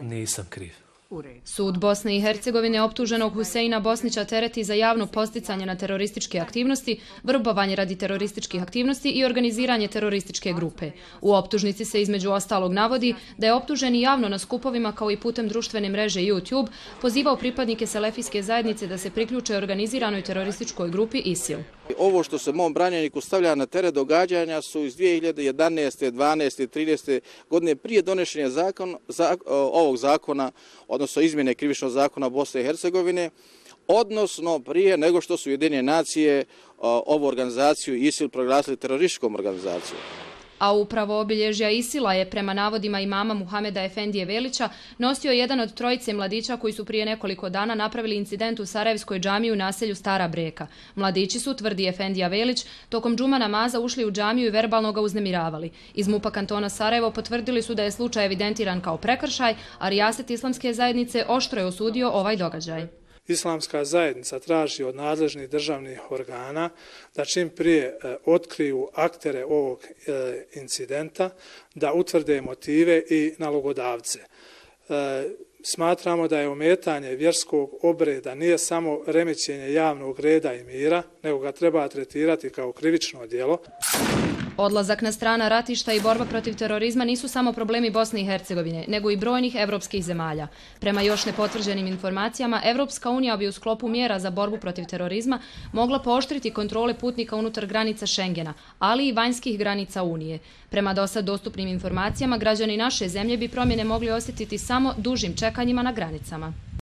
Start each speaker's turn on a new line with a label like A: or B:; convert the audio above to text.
A: Nisam kriv.
B: Sud Bosne i Hercegovine optuženog Huseina Bosnića tereti za javno podsticanje na terorističke aktivnosti, vrbovanje radi terorističkih aktivnosti i organiziranje terorističke grupe. U optužnici se između ostalog navodi da je optuženi javno na skupovima kao i putem društvene mreže YouTube pozivao pripadnike selefijske zajednice da se priključe organiziranoj terorističkoj grupi ISIL.
C: Ovo što se mom branjeniku stavlja na teret događanja su iz 2011. 12. 13. godine prije donošenja ovog zakona, odnosno izmjene krivičnog zakona Bosne i Hercegovine, odnosno prije nego što su Ujedinjene nacije ovu organizaciju ISIL proglasili terorističkom organizacijom.
B: A upravo obilježja ISIL-a je prema navodima imama Muhameda Efendije Velića nosio jedan od trojice mladića koji su prije nekoliko dana napravili incident u Sarajevskoj džamiji u naselju Stara Breka. Mladići su, tvrdi Efendija Velić, tokom džuma namaza ušli u džamiju i verbalno ga uznemiravali. Iz MUP-a kantona Sarajevo potvrdili su da je slučaj evidentiran kao prekršaj, a rijaset islamske zajednice oštro je osudio ovaj događaj.
D: Islamska zajednica traži od nadležnih državnih organa da čim prije otkriju aktere ovog incidenta, da utvrde motive i nalogodavce. Smatramo da je ometanje vjerskog obreda nije samo remećenje javnog reda i mira, nego ga treba tretirati kao krivično djelo.
B: Odlazak na strana ratišta i borba protiv terorizma nisu samo problemi Bosne i Hercegovine, nego i brojnih evropskih zemalja. Prema još nepotvrđenim informacijama, Evropska unija bi u sklopu mjera za borbu protiv terorizma mogla pooštriti kontrole putnika unutar granica Schengena, ali i vanjskih granica Unije. Prema dosad dostupnim informacijama, građani naše zemlje bi promjene mogli osjetiti samo dužim čekanjima na granicama.